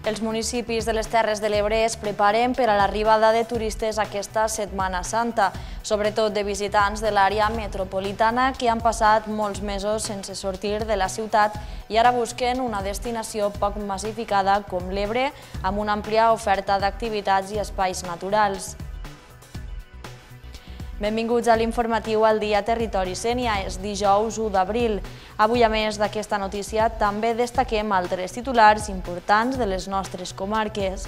Els municipis de les Terres de l'Ebre es preparen per a l'arribada de turistes aquesta Setmana Santa, sobretot de visitants de l'àrea metropolitana que han passat molts mesos sense sortir de la ciutat i ara busquen una destinació poc massificada com l'Ebre, amb una àmplia oferta d'activitats i espais naturals. Benvinguts a l'informatiu al Dia Territori Sénia, és dijous 1 d'abril. Avui, a més d'aquesta notícia, també destaquem altres titulars importants de les nostres comarques.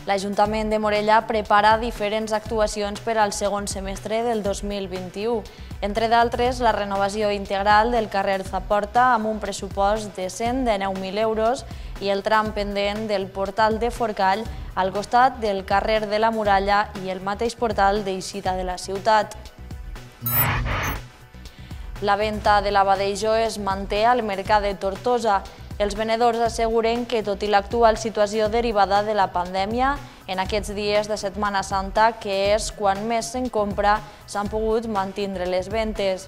L'Ajuntament de Morella prepara diferents actuacions per al segon semestre del 2021. Entre d'altres, la renovació integral del carrer Zaporta amb un pressupost de 119.000 euros i el tram pendent del portal de Forcall al costat del carrer de la Muralla i el mateix portal d'eixida de la ciutat. La venda de l'abadejo es manté al mercat de Tortosa. Els venedors asseguren que, tot i l'actual situació derivada de la pandèmia, en aquests dies de Setmana Santa, que és quan més se'n compra, s'han pogut mantindre les ventes.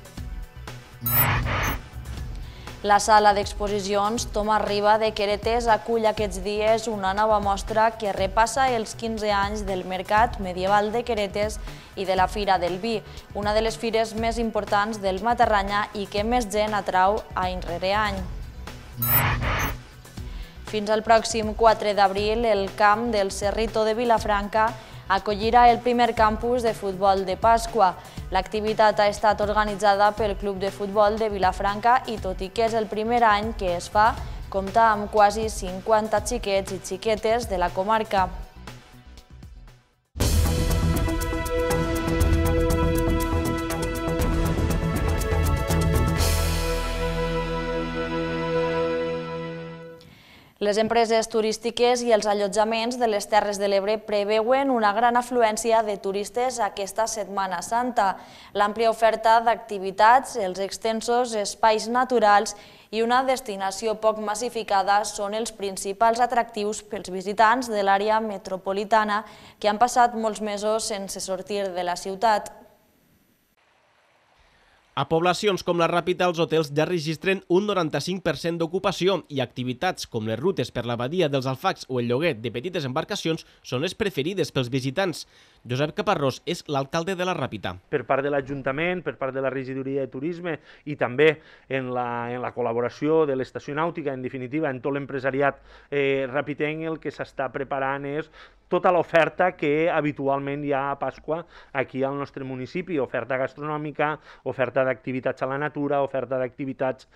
La sala d'exposicions Tomàs Riba de Queretes acull aquests dies una nova mostra que repassa els 15 anys del Mercat Medieval de Queretes i de la Fira del Vi, una de les fires més importants del Matarranya i que més gent atrau any rere any. Fins al pròxim 4 d'abril, el camp del Cerrito de Vilafranca acollirà el primer campus de futbol de Pasqua. L'activitat ha estat organitzada pel Club de Futbol de Vilafranca i, tot i que és el primer any que es fa, compta amb quasi 50 xiquets i xiquetes de la comarca. Les empreses turístiques i els allotjaments de les Terres de l'Ebre preveuen una gran afluència de turistes aquesta Setmana Santa. L'àmplia oferta d'activitats, els extensos espais naturals i una destinació poc massificada són els principals atractius pels visitants de l'àrea metropolitana que han passat molts mesos sense sortir de la ciutat. A poblacions com la Ràpita, els hotels ja registren un 95% d'ocupació i activitats com les rutes per la badia dels Alfacs o el lloguer de petites embarcacions són les preferides pels visitants. Josep Caparrós és l'alcalde de la Ràpita. Per part de l'Ajuntament, per part de la Regidoria de Turisme i també en la col·laboració de l'Estació Nàutica, en definitiva, en tot l'empresariat rapitenc, el que s'està preparant és tota l'oferta que habitualment hi ha a Pasqua aquí al nostre municipi, oferta gastronòmica, oferta d'activitats a la natura, oferta d'activitats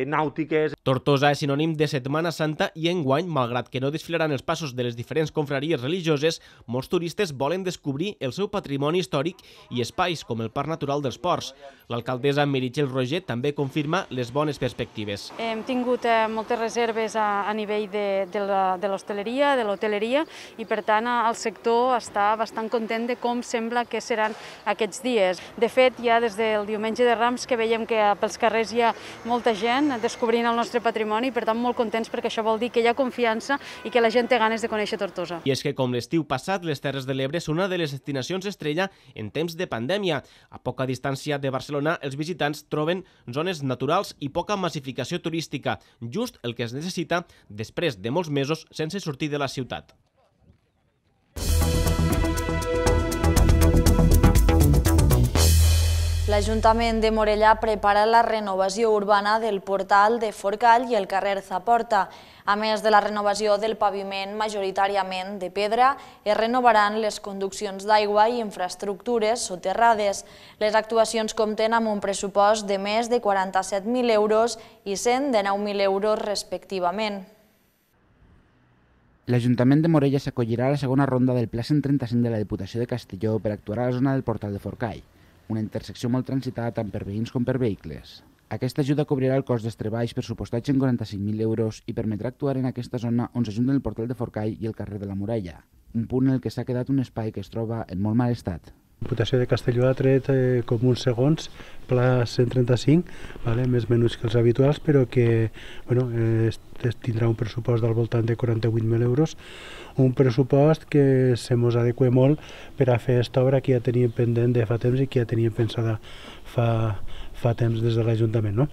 nàutiques. Tortosa és sinònim de Setmana Santa i enguany, malgrat que no desfilaran els passos de les diferents confraries religioses, molts turistes volen descobrir el seu patrimoni històric i espais com el Parc Natural dels Ports. L'alcaldessa Meritxell Roger també confirma les bones perspectives. Hem tingut moltes reserves a nivell de l'hostaleria, de l'hoteleria, i per tant el sector està bastant content de com sembla que seran aquests dies. De fet, ja des del diumenge de Rams que veiem que pels carrers hi ha molta gent descobrint el nostre patrimoni, per tant molt contents perquè això vol dir que hi ha confiança i que la gent té ganes de conèixer Tortosa. I és que com l'estiu passat, les Terres de l'Ebre són una de les destinacions estrella en temps de pandèmia. A poca distància de Barcelona, els visitants troben zones naturals i poca massificació turística, just el que es necessita després de molts mesos sense sortir de la ciutat. L'Ajuntament de Morella prepara la renovació urbana del portal de Forcall i el carrer Zaporta. A més de la renovació del paviment majoritàriament de pedra, es renovaran les conduccions d'aigua i infraestructures soterrades. Les actuacions compten amb un pressupost de més de 47.000 euros i 119.000 euros respectivament. L'Ajuntament de Morella s'acollirà a la segona ronda del Pla 135 de la Diputació de Castelló per actuar a la zona del portal de Forcall, una intersecció molt transitada tant per veïns com per vehicles. Aquesta ajuda cobrirà el cost dels treballs pressupostats en 45.000 euros i permetrà actuar en aquesta zona on s'ajunten el portal de Forcall i el carrer de la Muralla, un punt en el que s'ha quedat un espai que es troba en molt mal estat. La Diputació de Castelló ha tret com uns segons, pla 135, més menuts que els habituals, però que tindrà un pressupost del voltant de 48.000 euros, un pressupost que se mos adequa molt per a fer aquesta obra que ja teníem pendent de fa temps i que ja teníem pensada fa temps des de l'Ajuntament.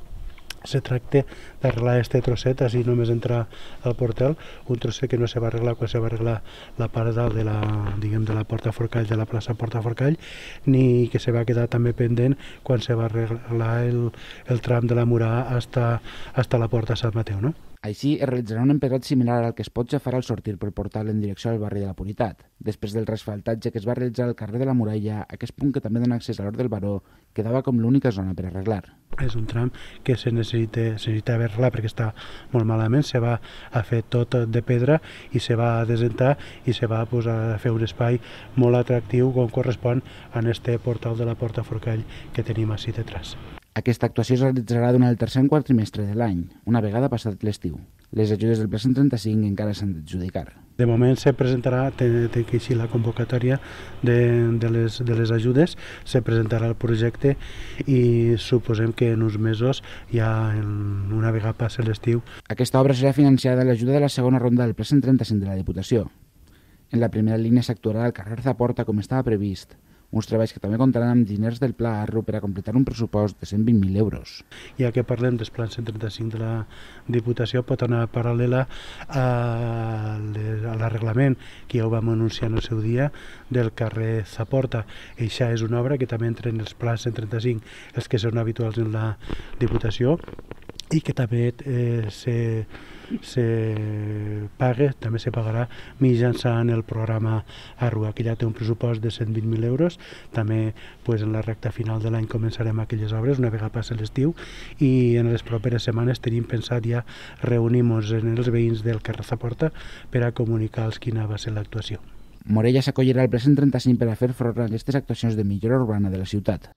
se tracta d'arreglar este trosset, així només entrar al portal, un trosset que no se va arreglar quan se va arreglar la part dalt de la Porta Forcall, de la plaça Porta Forcall, ni que se va quedar també pendent quan se va arreglar el tram de la Murà hasta la Porta Sant Mateu, no? Així, es realitzarà un empedrat similar al que es pot ja farà al sortir pel portal en direcció al barri de la Punitat. Després del resfaltatge que es va realitzar al carrer de la Muralla, aquest punt que també dona accés a l'Hort del Baró quedava com l'única zona per arreglar. És un tram que se necessita arreglar perquè està molt malament, se va a fer tot de pedra i se va a desentar i se va a fer un espai molt atractiu com correspon a este portal de la Porta Forcall que tenim així detrás. Aquesta actuació es realitzarà durant el tercer quadrimestre de l'any, una vegada passat l'estiu. Les ajudes del Pla 135 encara s'han d'adjudicar. De moment se presentarà, té que eixir la convocatòria de les ajudes, se presentarà el projecte i suposem que en uns mesos, ja una vegada passi l'estiu. Aquesta obra serà financiada amb l'ajuda de la segona ronda del Pla 135 de la Diputació. En la primera línia s'actuarà al carrer Zaporta com estava previst, uns treballs que també comptaran amb diners del Pla Arro per a completar un pressupost de 120.000 euros. Ja que parlem del Pla 135 de la Diputació, pot anar paral·lela a l'arreglament que ja ho vam anunciar en el seu dia del carrer Zaporta. Eixa és una obra que també entra en els Pla 135, els que són habituals en la Diputació, i que també també se pagarà mitjançant el programa Arrua, que ja té un pressupost de 120.000 euros. També en la recta final de l'any començarem aquelles obres una vegada passi l'estiu i en les properes setmanes tenim pensat ja reunir-nos en els veïns del carrer Zaporta per a comunicar-los quina va ser l'actuació. Morella s'acollirà al Pla 135 per a fer front a aquestes actuacions de millora urbana de la ciutat.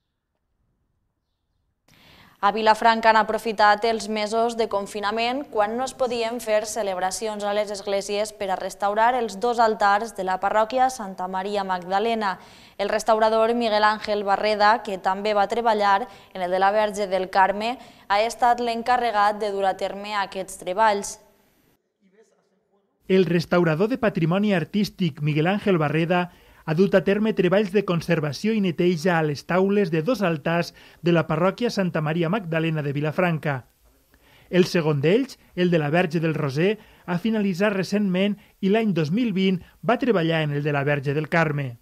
A Vilafranca han aprofitat els mesos de confinament quan no es podien fer celebracions a les esglésies per a restaurar els 2 altars de la parròquia Santa Maria Magdalena. El restaurador Miguel Ángel Barreda, que també va treballar en el de la Verge del Carme, ha estat l'encarregat de dur a terme aquests treballs. El restaurador de patrimoni artístic Miguel Ángel Barreda ha dut a terme treballs de conservació i neteja a les taules de 2 altars de la parròquia Santa Maria Magdalena de Vilafranca. El segon d'ells, el de la Verge del Roser, ha finalitzat recentment i l'any 2020 va treballar en el de la Verge del Carme.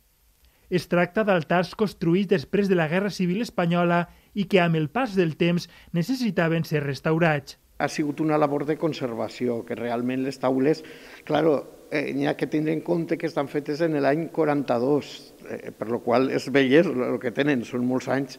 Es tracta d'altars construïts després de la Guerra Civil Espanyola i que amb el pas del temps necessitaven ser restaurats. Ha sigut una labor de conservació, que realment les taules, n'hi ha que tindre en compte que estan fetes en l'any 42, per la qual és velles el que tenen, són molts anys.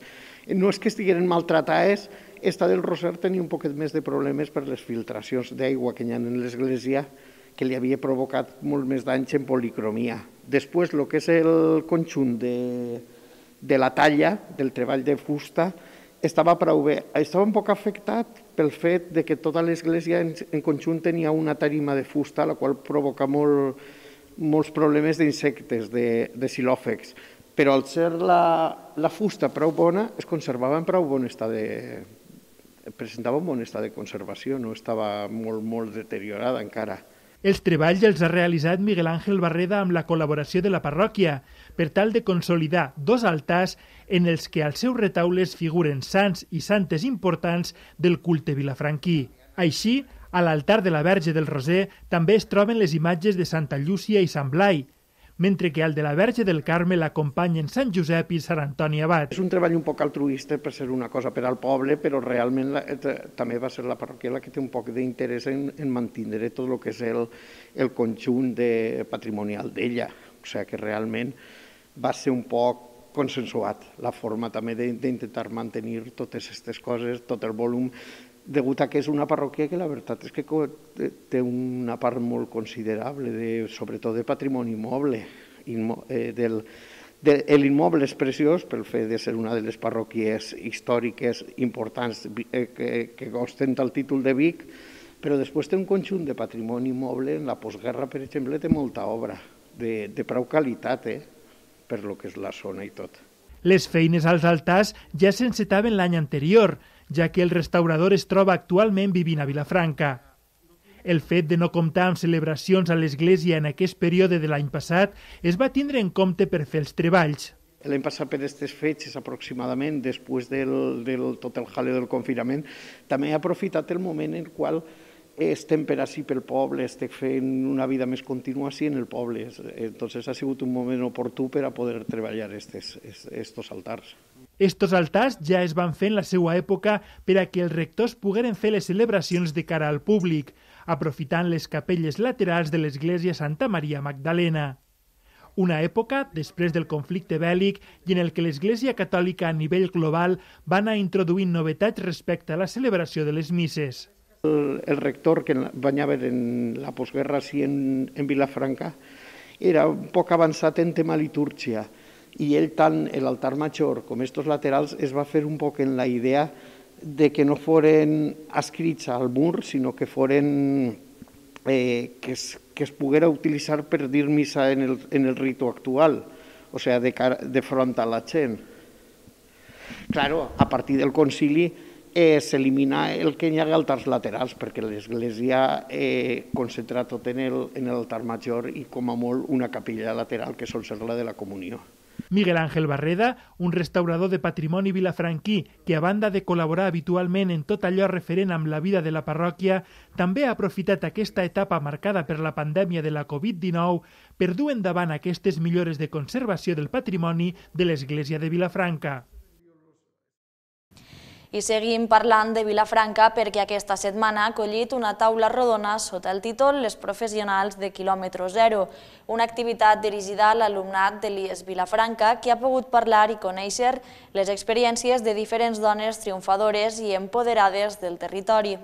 No és que estiguin maltratades, esta del Roser tenia un poquet més de problemes per les filtracions d'aigua que hi ha en l'església, que li havia provocat molt més danys en policromia. Després, el que és el conjunt de la talla, del treball de fusta, estava prou bé. Estava un poc afectat pel fet de que tota l'església en conjunt tenia una tarima de fusta, la qual provoca molts problemes d'insectes, de xilòfecs. Però al ser la fusta prou bona, es conservava en prou bon estat presentava un bon estat de conservació, no estava molt deteriorada encara. Els treballs els ha realitzat Miguel Ángel Barreda amb la col·laboració de la parròquia, per tal de consolidar 2 altars en els que als seus retaules figuren sants i santes importants del culte vilafranquí. Així, a l'altar de la Verge del Roser també es troben les imatges de Santa Llúcia i Sant Blai, mentre que al de la Verge del Carme l'acompanyen Sant Josep i Sant Antoni Abat. És un treball un poc altruista per ser una cosa per al poble, però realment també va ser la parròquia la que té un poc d'interès en mantenir tot el que és el conjunt patrimonial d'ella. O sigui que realment va ser un poc consensuat la forma també d'intentar mantenir totes aquestes coses, tot el volum, degut a que és una parròquia que la veritat és que té una part molt considerable, sobretot de patrimoni immoble. L'immoble és preciós pel fet de ser una de les parròquies històriques importants que ostenta el títol de Vic, però després té un conjunt de patrimoni immoble. En la postguerra, per exemple, té molta obra de prou qualitat, per lo que és la zona i tot. Les feines als altars ja s'encetaven l'any anterior, ja que el restaurador es troba actualment vivint a Vilafranca. El fet de no comptar amb celebracions a l'església en aquest període de l'any passat es va tindre en compte per fer els treballs. L'any passat per aquestes fetges, aproximadament, després del tot el jaleo del confinament, també he aprofitat el moment en el qual estem per així pel poble, estic fent una vida més contínua així en el poble. Entonces ha sigut un moment oportú per a poder treballar estos altars. Estos altars ja es van fer en la seva època per a que els rectors pogueren fer les celebracions de cara al públic, aprofitant les capelles laterals de l'església Santa Maria Magdalena. Una època, després del conflicte bèl·lic, i en el que l'Església Catòlica a nivell global va anar introduint novetats respecte a la celebració de les misses. El rector que va haver en la postguerra així en Vilafranca era un poc avançat en tema litúrgia i ell tant l'altar major com estos laterals es va fer un poc en la idea de que no foren escrits al mur, sinó que foren que es poguera utilitzar per dir missa en el ritu actual, o sigui, de front a la gent. Claro, a partir del concili s'elimina el que hi ha altars laterals, perquè l'Església concentra tot en l'altar major i com a molt una capella lateral que sol ser la de la comunió. Miguel Ángel Barreda, un restaurador de patrimoni vilafranquí que, a banda de col·laborar habitualment en tot allò referent amb la vida de la parròquia, també ha aprofitat aquesta etapa marcada per la pandèmia de la Covid-19 per dur endavant aquestes millores de conservació del patrimoni de l'Església de Vilafranca. I seguim parlant de Vilafranca perquè aquesta setmana ha acollit una taula rodona sota el títol Les professionals de quilòmetre zero, una activitat dirigida a l'alumnat de l'IES Vilafranca que ha pogut parlar i conèixer les experiències de diferents dones triomfadores i empoderades del territori.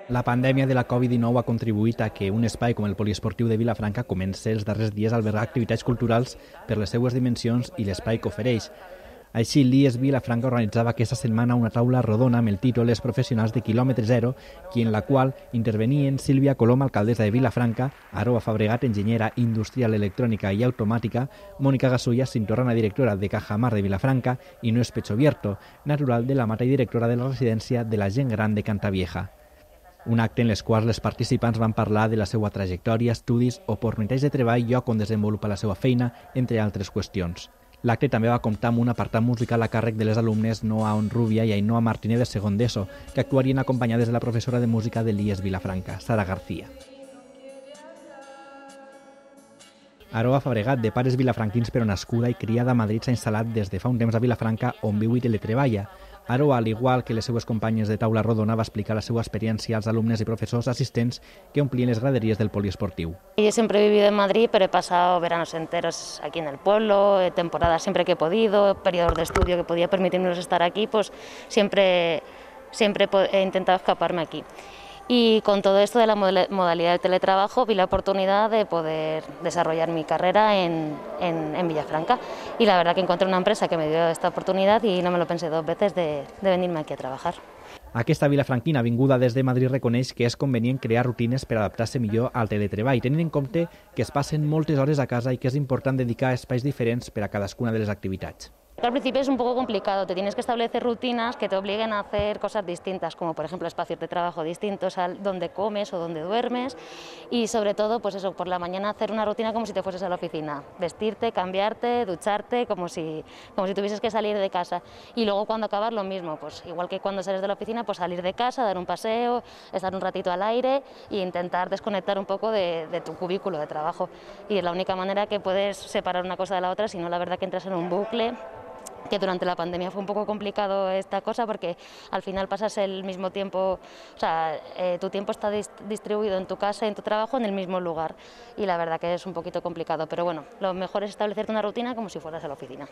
La pandèmia de la Covid-19 ha contribuït a que un espai com el poliesportiu de Vilafranca comenci els darrers dies a albergar activitats culturals per les seues dimensions i l'espai que ofereix. Així, l'IES Vilafranca organitzava aquesta setmana una taula rodona amb el títol Les professionals de quilòmetre zero, i en la qual intervenien Sílvia Colom, alcaldessa de Vilafranca, Aroa Fabregat, enginyera industrial, electrònica i automàtica, Mónica Gasulla, cintorrana directora de Cajamar de Vilafranca, i Noes Pechovierto, natural de la Mata i directora de la residència de la gent gran de Cantavieja. Un acte en les quals les participants van parlar de la seva trajectòria, estudis, oportunitats de treball, lloc on desenvolupa la seva feina, entre altres qüestions. L'acte també va comptar amb un apartat musical a càrrec de les alumnes Noa Onrubia i Ainhoa Martínez de segon d'ESO, que actuarien acompanyades de la professora de música de l'IES Vilafranca, Sara García. Aroa Fabregat, de pares vilafranquins però nascuda i criada a Madrid, s'ha instal·lat des de fa un temps a Vilafranca, on viu i teletreballa. Aroa, al igual que les seues companyes de taula rodona, va explicar la seva experiència als alumnes i profesors assistents que omplien les graderías del poliesportiu. Yo siempre he vivido en Madrid, pero he pasado veranos enteros aquí en el pueblo, temporadas siempre que he podido, periodos de estudio que podía permitirnos estar aquí, pues siempre he intentado escaparme aquí. Y con todo esto de la modalidad de teletrabajo vi la oportunidad de poder desarrollar mi carrera en Vilafranca, y la verdad que encontré una empresa que me dio esta oportunidad y no me lo pensé dos veces de venirme aquí a trabajar. Aquesta vilafranquina vinguda des de Madrid reconeix que és convenient crear rutines per adaptar-se millor al teletreball, tenint en compte que es passen moltes hores a casa i que és important dedicar espais diferents per a cadascuna de les activitats. Al principio es un poco complicado, te tienes que establecer rutinas que te obliguen a hacer cosas distintas, como por ejemplo espacios de trabajo distintos a donde comes o donde duermes, y sobre todo pues eso, por la mañana hacer una rutina como si te fueses a la oficina, vestirte, cambiarte, ducharte, como si tuvieses que salir de casa, y luego cuando acabas lo mismo, pues igual que cuando sales de la oficina, pues salir de casa, dar un paseo, estar un ratito al aire e intentar desconectar un poco de tu cubículo de trabajo, y es la única manera que puedes separar una cosa de la otra, si no la verdad que entras en un bucle, que durante la pandemia fue un poco complicado esta cosa porque al final pasas el mismo tiempo, o sea, tu tiempo está distribuido en tu casa y en tu trabajo en el mismo lugar, y la verdad que es un poquito complicado, pero bueno, lo mejor es establecerte una rutina como si fueras a la oficina.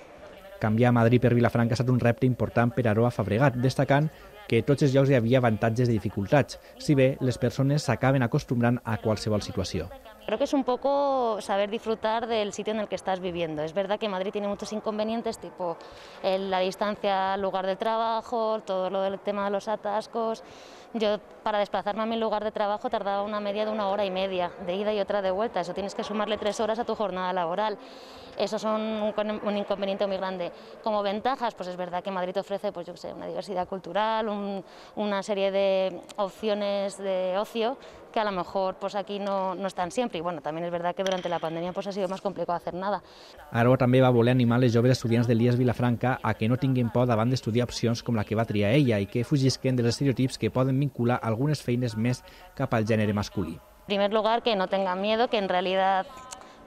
Canviar Madrid per Vilafranca ha estat un repte important per Aroa Fabregat, destacant que a tots els llocs hi havia avantatges i dificultats, si bé les persones s'acaben acostumbrant a qualsevol situació. Creo que es un poco saber disfrutar del sitio en el que estás viviendo. Es verdad que Madrid tiene muchos inconvenientes, tipo la distancia al lugar de trabajo, todo lo del tema de los atascos, Yo para desplazarme a mi lugar de trabajo tardaba una media de 1 hora y media, de ida y otra de vuelta. Eso tienes que sumarle 3 horas a tu jornada laboral. Eso son un inconveniente muy grande. Como ventajas, pues es verdad que Madrid ofrece, pues yo qué sé, una diversidad cultural, una serie de opciones de ocio que a lo mejor pues aquí no están siempre. Y bueno, también es verdad que durante la pandemia pues ha sido más complicado hacer nada. Aró també va voler animar les joves estudiants de l'IES Vilafranca a que no tinguin por davant d'estudiar opcions com la que va triar ella i que fugisquen dels estereotips que poden vincular algunes feines més cap al gènere masculí. En primer lugar, que no tengan miedo, que en realidad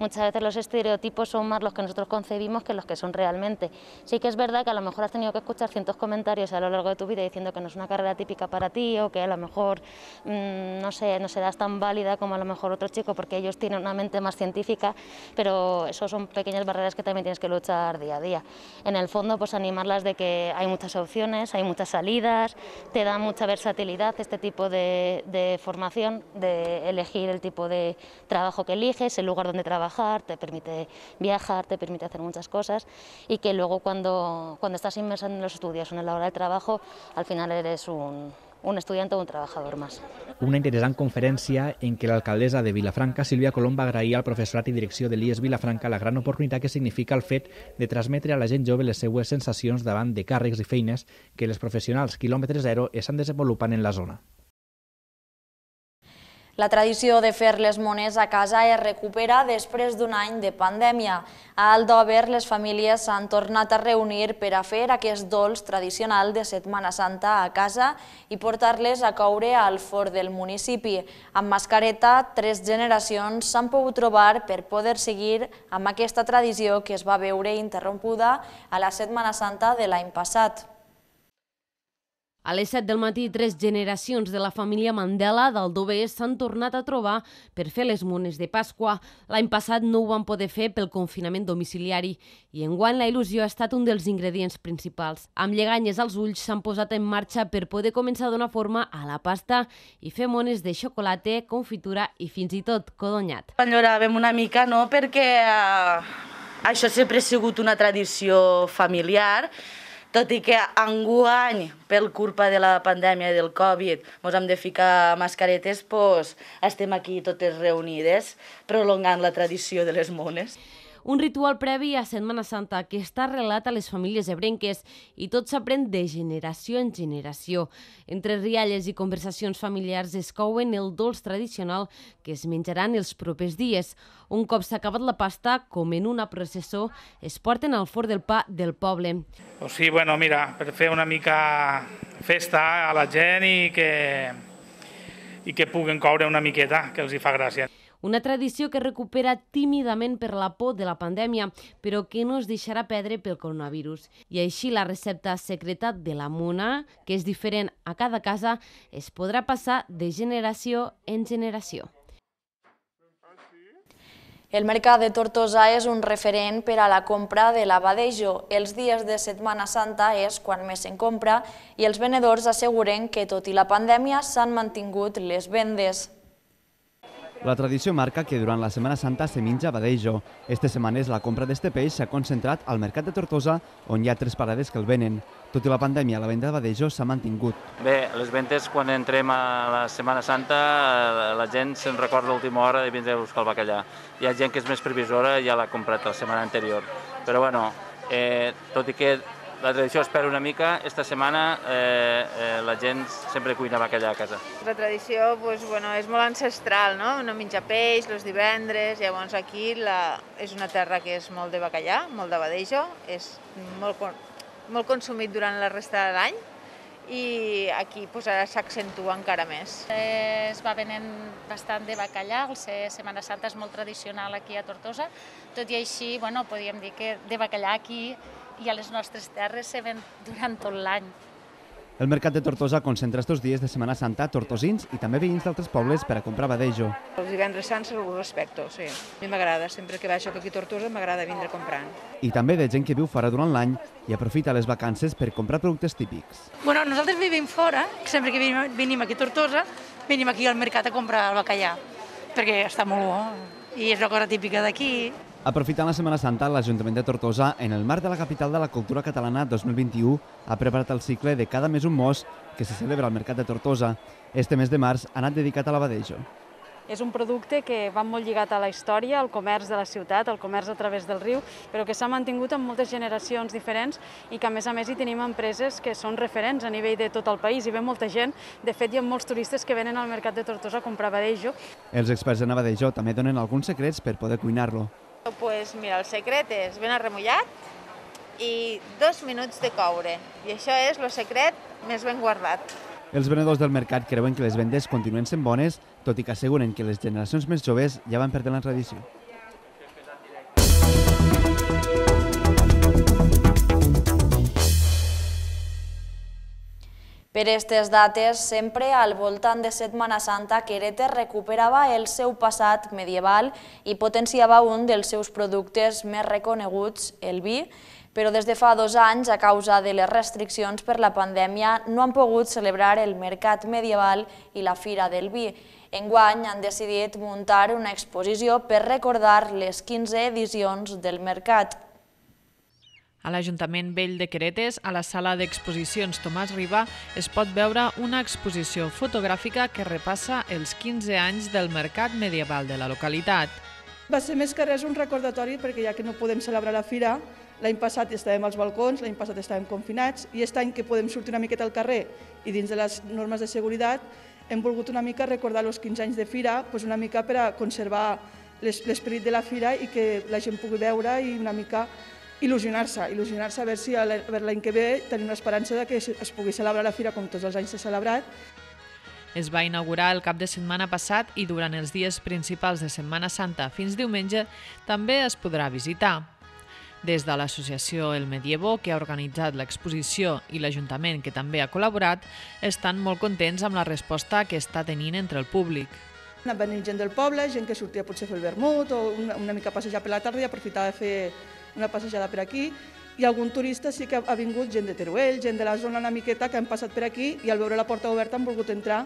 muchas veces los estereotipos son más los que nosotros concebimos que los que son realmente. Sí que es verdad que a lo mejor has tenido que escuchar cientos comentarios a lo largo de tu vida diciendo que no es una carrera típica para ti o que a lo mejor no serás tan válida como a lo mejor otro chico porque ellos tienen una mente más científica, pero eso son pequeñas barreras que también tienes que luchar día a día. En el fondo, pues animarlas de que hay muchas opciones, hay muchas salidas, te da mucha versatilidad este tipo de formación, de elegir el tipo de trabajo que eliges, el lugar donde trabajar, te permite viajar, te permite hacer muchas cosas y que luego cuando estás inmersa en los estudios o en la hora de trabajo, al final eres un estudiante o un trabajador más. Una interessant conferència en què l'alcaldessa de Vilafranca, Sílvia Colom, va agrair al professorat i direcció de l'IES Vilafranca la gran oportunitat que significa el fet de transmetre a la gent jove les seues sensacions davant de càrrecs i feines que les professionals quilòmetre zero estan desenvolupant en la zona. La tradició de fer les mones a casa es recupera després d'un any de pandèmia. A Aldover, les famílies s'han tornat a reunir per a fer aquest dolç tradicional de Setmana Santa a casa i portar-les a coure al forn del municipi. Amb mascareta, 3 generacions s'han pogut trobar per poder seguir amb aquesta tradició que es va veure interrompuda a la Setmana Santa de l'any passat. A les 7 del matí, 3 generacions de la família Mandela d'Aldover s'han tornat a trobar per fer les mones de Pasqua. L'any passat no ho van poder fer pel confinament domiciliari i enguany la il·lusió ha estat un dels ingredients principals. Amb lleganyes als ulls s'han posat en marxa per poder començar a donar forma a la pasta i fer mones de xocolata, confitura i fins i tot codonyat. Enlloràvem una mica, no?, perquè això sempre ha sigut una tradició familiar, tot i que enguany, per culpa de la pandèmia i del Covid, ens hem de ficar mascaretes, doncs estem aquí totes reunides, prolongant la tradició de les mones. Un ritual previ a Setmana Santa que està arrelat a les famílies ebrenques i tot s'aprèn de generació en generació. Entre rialles i conversacions familiars es couen el dolç tradicional que es menjaran els propers dies. Un cop s'ha acabat la pasta, com en una processó, es porten al forn del pa del poble. Sí, bueno, mira, per fer una mica festa a la gent i que puguen coure una miqueta, que els hi fa gràcia. Una tradició que recupera tímidament per la por de la pandèmia, però que no es deixarà perdre pel coronavirus. I així la recepta secreta de la mona, que és diferent a cada casa, es podrà passar de generació en generació. El mercat de Tortosa és un referent per a la compra de l'abadejo. Els dies de Setmana Santa és quan més se'n compra i els venedors asseguren que, tot i la pandèmia, s'han mantingut les vendes. La tradició marca que durant la Setmana Santa se menja abadejo. Estes setmanes la compra d'este peix s'ha concentrat al mercat de Tortosa, on hi ha 3 parades que el venen. Tot i la pandèmia, la venda d'abadejo s'ha mantingut. Bé, les ventes, quan entrem a la Setmana Santa, la gent se'n recorda a l'última hora de vindre a buscar el bacallà. Hi ha gent que és més previsora i ja l'ha comprat la setmana anterior. Però bueno, tot i que la tradició espera una mica, esta setmana la gent sempre cuina bacallà a casa. La tradició és molt ancestral, no menja peix els divendres, llavors aquí és una terra que és molt de bacallà, molt d'abadejo, és molt consumit durant la resta de l'any i aquí ara s'accentua encara més. Es va venent bastant de bacallà, el Setmana Santa és molt tradicional aquí a Tortosa, tot i així podríem dir que de bacallà aquí i a les nostres terres se ven durant tot l'any. El mercat de Tortosa concentra estos dies de Setmana Santa tortosins i també veïns d'altres pobles per a comprar abadejo. Els divendres sants ho respecto, sí. A mi m'agrada, sempre que baixo aquí a Tortosa m'agrada vindre comprant. I també de gent que viu fora durant l'any i aprofita les vacances per comprar productes típics. Bueno, nosaltres vivim fora, sempre que venim aquí a Tortosa, venim aquí al mercat a comprar el bacallà, perquè està molt bo i és una cosa típica d'aquí. Aprofitant la Setmana Santa, l'Ajuntament de Tortosa, en el marc de la Capital de la Cultura Catalana 2021, ha preparat el cicle de Cada mes un mos que se celebra al Mercat de Tortosa. Este mes de març ha anat dedicat a l'abadejo. És un producte que va molt lligat a la història, al comerç de la ciutat, al comerç a través del riu, però que s'ha mantingut en moltes generacions diferents i que a més hi tenim empreses que són referents a nivell de tot el país i ve molta gent. De fet, hi ha molts turistes que venen al Mercat de Tortosa a comprar abadejo. Els experts en abadejo també donen alguns secrets per poder cuinar-lo. Pues mira, el secret és ben arremollat i 2 minuts de coure. I això és el secret més ben guardat. Els venedors del mercat creuen que les vendes continuen sent bones, tot i que asseguren que les generacions més joves ja van perdent la tradició. Per aquestes dates, sempre al voltant de Setmana Santa, Queretes recuperava el seu passat medieval i potenciava un dels seus productes més reconeguts, el vi, però des de fa 2 anys, a causa de les restriccions per la pandèmia, no han pogut celebrar el mercat medieval i la Fira del Vi. Enguany han decidit muntar una exposició per recordar les 15 edicions del mercat. A l'Ajuntament Vell de Queretes, a la sala d'exposicions Tomàs Riba, es pot veure una exposició fotogràfica que repassa els 15 anys del mercat medieval de la localitat. Va ser més que res un recordatori perquè ja que no podem celebrar la fira, l'any passat estàvem als balcons, l'any passat estàvem confinats i aquest any que podem sortir una miqueta al carrer i dins de les normes de seguretat hem volgut una mica recordar els 15 anys de fira, una mica per a conservar l'esperit de la fira i que la gent pugui veure i una mica il·lusionar-se a veure si l'any que ve tenim l'esperança que es pugui celebrar la fira com tots els anys s'ha celebrat. Es va inaugurar el cap de setmana passat i durant els dies principals de Setmana Santa fins diumenge també es podrà visitar. Des de l'associació El Medievo, que ha organitzat l'exposició, i l'Ajuntament, que també ha col·laborat, estan molt contents amb la resposta que està tenint entre el públic. Ha venit gent del poble, gent que sortia potser a fer el vermut o una mica a passejar per la tarda i aprofitava de fer una passejada per aquí. I algun turista sí que ha vingut, gent de Teruel, gent de la zona una miqueta que han passat per aquí i al veure la porta oberta han volgut entrar.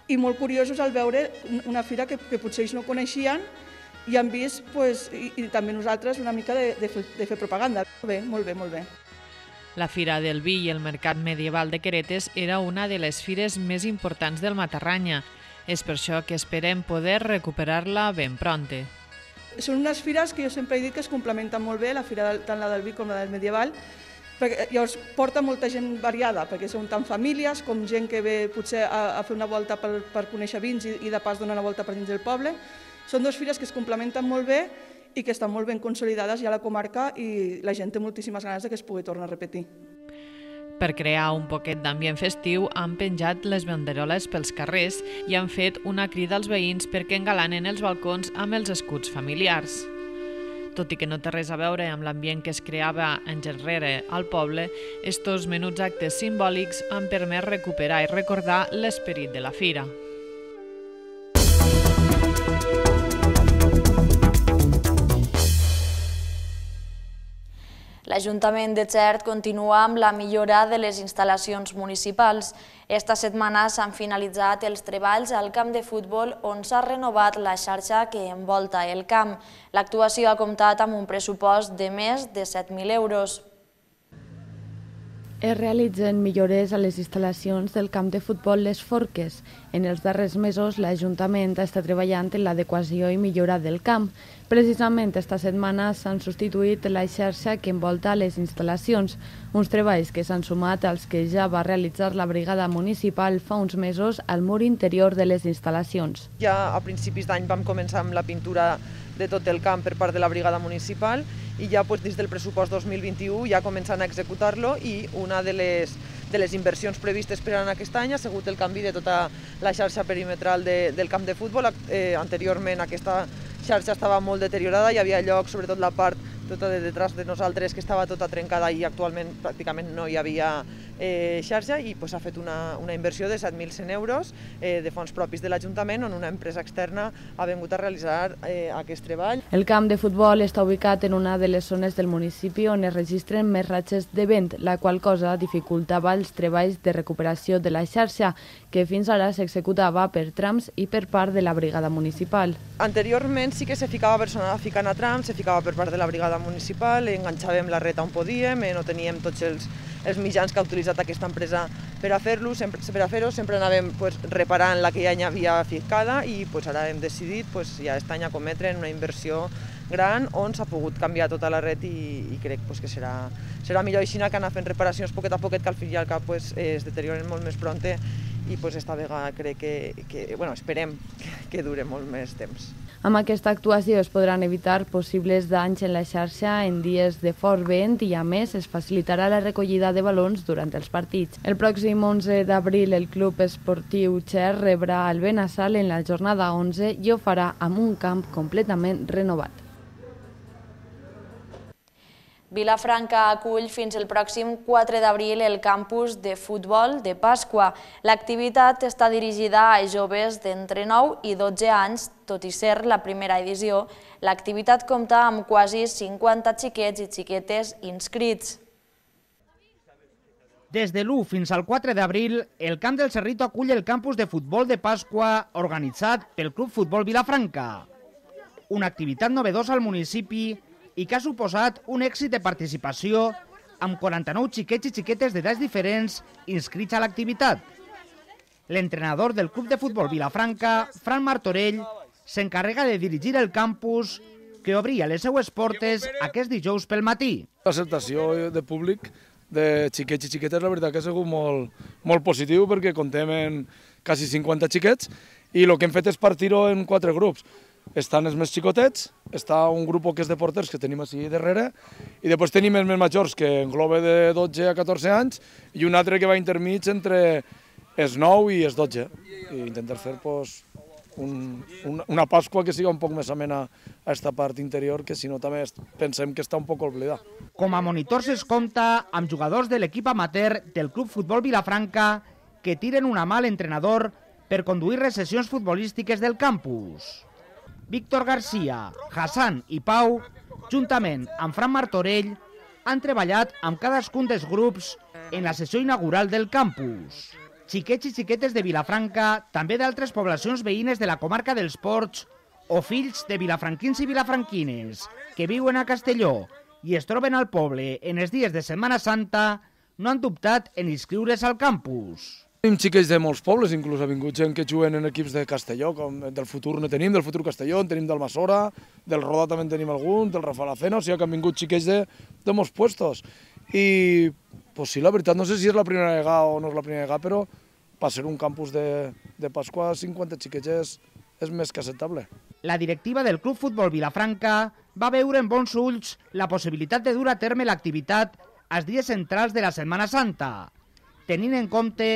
I molt curiosos al veure una fira que potser ells no coneixien i han vist, i també nosaltres, una mica de fer propaganda. Molt bé. La Fira del Vi i el Mercat Medieval de Queretes era una de les fires més importants del Matarranya. És per això que esperem poder recuperar-la ben pronte. Són unes fires que jo sempre he dit que es complementen molt bé, la fira tant la del Vi com la del Medieval, perquè llavors porta molta gent variada, perquè són tant famílies com gent que ve potser a fer una volta per conèixer vins i de pas donar una volta per dins del poble. Són 2 fires que es complementen molt bé i que estan molt ben consolidades ja a la comarca i la gent té moltíssimes ganes que es pugui tornar a repetir. Per crear un poquet d'ambient festiu han penjat les banderoles pels carrers i han fet una crida als veïns perquè engalanen els balcons amb els escuts familiars. Tot i que no té res a veure amb l'ambient que es creava anys enrere al poble, estos menuts actes simbòlics han permès recuperar i recordar l'esperit de la fira. L'Ajuntament de Xert continua amb la millora de les instal·lacions municipals. Esta setmana s'han finalitzat els treballs al camp de futbol on s'ha renovat la xarxa que envolta el camp. L'actuació ha comptat amb un pressupost de més de 7.000 euros. Es realitzen millores a les instal·lacions del camp de futbol Les Forques. En els darrers mesos, l'Ajuntament està treballant en l'adequació i millora del camp. Precisament esta setmana s'han substituït la xarxa que envolta les instal·lacions, uns treballs que s'han sumat als que ja va realitzar la brigada municipal fa uns mesos al mur interior de les instal·lacions. Ja a principis d'any vam començar amb la pintura de tot el camp per part de la brigada municipal i ja dins del pressupost 2021 ja començant a executar-lo i una de les inversions previstes per a aquest any ha sigut el canvi de tota la xarxa perimetral del camp de futbol. Anteriorment aquesta xarxa estava molt deteriorada, hi havia llocs, sobretot la part tota de detrás de nosaltres, que estava tota trencada i actualment pràcticament no hi havia xarxa i s'ha fet una inversió de 7.100 euros de fons propis de l'Ajuntament on una empresa externa ha vingut a realitzar aquest treball. El camp de futbol està ubicat en una de les zones del municipi on es registren més ratxes de vent, la qual cosa dificultava els treballs de recuperació de la xarxa, que fins ara s'executava per trams i per part de la brigada municipal. Anteriorment sí que se ficava personal ficant a trams, se ficava per part de la brigada municipal, enganxàvem la reta on podíem, no teníem tots els mitjans que ha utilitzat aquesta empresa per a fer-ho, sempre anàvem reparant la que ja hi havia ficada i ara hem decidit ja aquest any acometre una inversió gran on s'ha pogut canviar tota la red i crec que serà millor així que anar fent reparacions poquet a poquet, que al fin i al cap es deterioren molt més prompte i esta vegada crec que esperem que dure molt més temps. Amb aquesta actuació es podran evitar possibles danys en la xarxa en dies de fort vent i, a més, es facilitarà la recollida de balons durant els partits. El pròxim 11 d'abril el Club Esportiu Xer rebrà el Benassal en la jornada 11 i ho farà amb un camp completament renovat. Vilafranca acull fins el pròxim 4 d'abril el campus de futbol de Pasqua. L'activitat està dirigida a joves d'entre 9 i 12 anys, tot i ser la primera edició. L'activitat compta amb quasi 50 xiquets i xiquetes inscrits. Des de l'1 fins al 4 d'abril, el Camp del Cerrito acull el campus de futbol de Pasqua organitzat pel Club Futbol Vilafranca. Una activitat novedosa al municipi i que ha suposat un èxit de participació amb 49 xiquets i xiquetes d'edats diferents inscrits a l'activitat. L'entrenador del Club de Futbol Vilafranca, Fran Martorell, s'encarrega de dirigir el campus que obria les seues portes aquest dijous pel matí. L'acceptació de públic de xiquets i xiquetes, la veritat que ha sigut molt positiu perquè comptem en quasi 50 xiquets i el que hem fet és partir-ho en 4 grups. Estan els més xicotets, està un grup que és de porters que tenim així darrere i després tenim els més majors que engloba de 12 a 14 anys i un altre que va intermig entre els 9 i els 12 i intentar fer una Pasqua que siga un poc més amena a aquesta part interior que si no també pensem que està un poc oblidada. Com a monitors es compta amb jugadors de l'equip amateur del Club Futbol Vilafranca que tiren una mà a l'entrenador per conduir les sessions futbolístiques del campus. Víctor García, Hassan i Pau, juntament amb Fran Martorell, han treballat amb cadascun dels grups en la sessió inaugural del campus. Xiquets i xiquetes de Vilafranca, també d'altres poblacions veïnes de la comarca dels Ports, o fills de vilafranquins i vilafranquines que viuen a Castelló i es troben al poble en els dies de Setmana Santa, no han dubtat en inscriure's al campus. Tenim xiquets de molts pobles, inclús ha vingut gent que juguen en equips de Castelló, com del Futur no tenim, del Futur Castelló, en tenim d'Almassora, del Roda també en tenim algun, del Rafa Lacena, o sigui que han vingut xiquets de molts puestos. I, pues sí, la veritat, no sé si és la primera vegada o no és la primera vegada, però per ser un campus de Pasqua, 50 xiquets és més que acceptable. La directiva del Club Futbol Vilafranca va veure en bons ulls la possibilitat de dur a terme l'activitat als dies centrals de la Setmana Santa, tenint en compte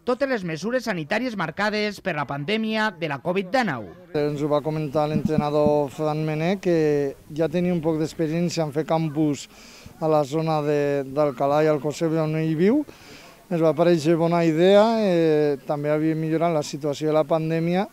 totes les mesures sanitàries marcades per la pandèmia de la Covid-19. Ens ho va comentar l'entrenador Fran Mené, que ja tenia un poc d'experiència en fer campus a la zona d'Alcalà i Alcossebre on ell viu. Ens va parèixer bona idea, també havia millorat la situació de la pandèmia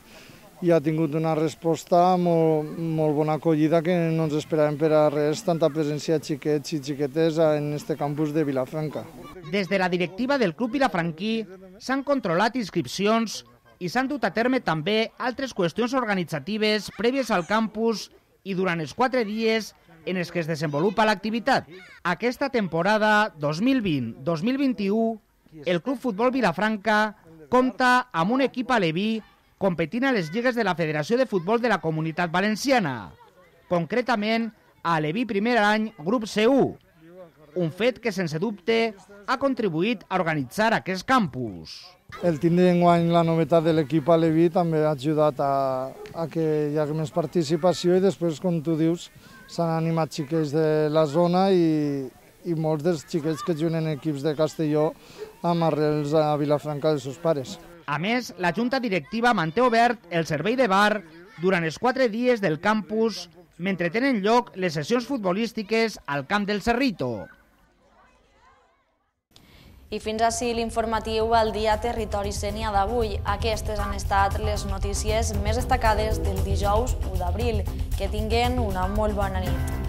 i ha tingut una resposta molt bona acollida que no ens esperàvem per a res, tanta presència de xiquets i xiquetes en este campus de Vilafranca. Des de la directiva del Club Vilafranquí s'han controlat inscripcions i s'han dut a terme també altres qüestions organitzatives prèvies al campus i durant els 4 dies en els que es desenvolupa l'activitat. Aquesta temporada 2020-2021, el Club Futbol Vilafranca compta amb un equip aleví competint a les lligues de la Federació de Futbol de la Comunitat Valenciana, concretament a Aleví primer any grup C1, un fet que sense dubte ha contribuït a organitzar aquest campus. El tindre enguany la novetat de l'equip aleví també ha ajudat a que hi hagi més participació i després, com tu dius, s'han animat xiquets de la zona i molts dels xiquets que juguen en equips de Castelló amb arrels a Vilafranca dels seus pares. A més, la Junta Directiva manté obert el servei de bar durant els 4 dies del campus mentre tenen lloc les sessions futbolístiques al Camp del Cerrito. I fins ací l'informatiu al dia Territori Sénia d'avui. Aquestes han estat les notícies més destacades del dijous 1 d'abril. Que tinguen una molt bona nit.